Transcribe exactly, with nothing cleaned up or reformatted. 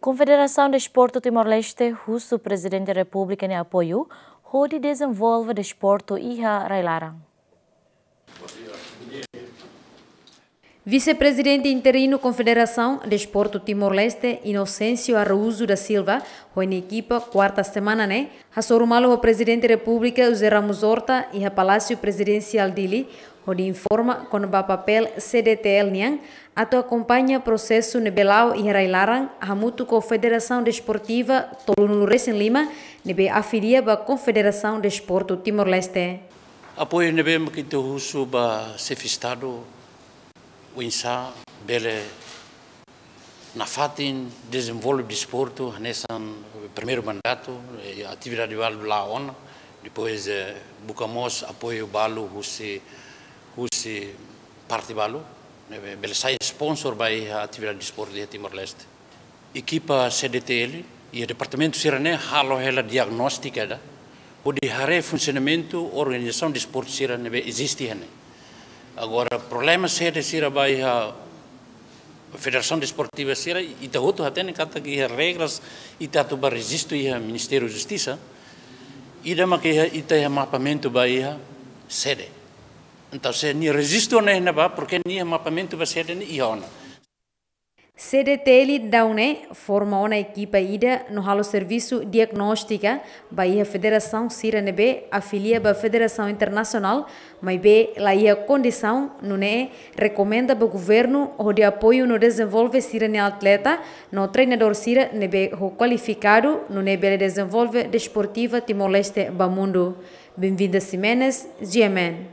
Konfederasaun Desportu Timor-Leste husu Prezidente Repúblika nia apoiu hodi dezenvolve desportu iha rai-laran. Vise-Prezidente Interinu Konfederasaun Desportu Timor-Leste, Inocêncio Araújo da Silva, ho nia ekipa, kuarta semana ne'e, hasoru malu ho Prezidente Repúblika José Ramos Horta iha Palásiu Prezidensiál Dili, hodi informa kona-ba papél C D T L nian atu akompaña prosesu ne'ebé la'o iha rai-laran, hamutuk ho Federasaun Desportiva tolunulu-resin-lima ne'ebé afilia ba Konfederasaun Desportu Timor-Leste. Apoiu ne'ebé mak ita husu ba Xefe Estadu, oinsá bele nafatin dezenvolve desportu hanesan primeiru mandatu, eh, atividade balu la'o ona, depois, eh, buka mós apoiu balu husi, husi parte balu, ne'ebé bele sai sponsor ba iha atividade desportu iha Timor-Leste. Ekipa C D T L iha departamentu sira-ne'e halo hela diagnóstika ida, hodi haree funsionamentu organizasaun desportu sira ne'ebé eziste iha ne'e. Agora, problema sede sira ba iha Federasaun Desportiva sira, ita hotu hatene katak iha regras ita atu ba rejistu iha Ministériu Justisa, ida mak iha, ita iha mapamentu ba iha sede. Entaun, se nia rejistu ne'e iha ne'ebá, porke nia iha mapamentu ba sede ne'e iha ona. C D T L daudaun ne'e forma ona ekipa ida no halo servisu diagnóstika ba iha federasaun sira ne'ebé afilia ba federasaun internasionál, maibé la iha kondisaun, nune'e rekomenda ba governu hodi apoiu no dezenvolve sira-nia atleta no treinadór sira ne'ebé ho kualifikadu, nune'e bele dezenvolve desportiva Timor-Leste ba mundu. Benvinda Ximenes, G M N.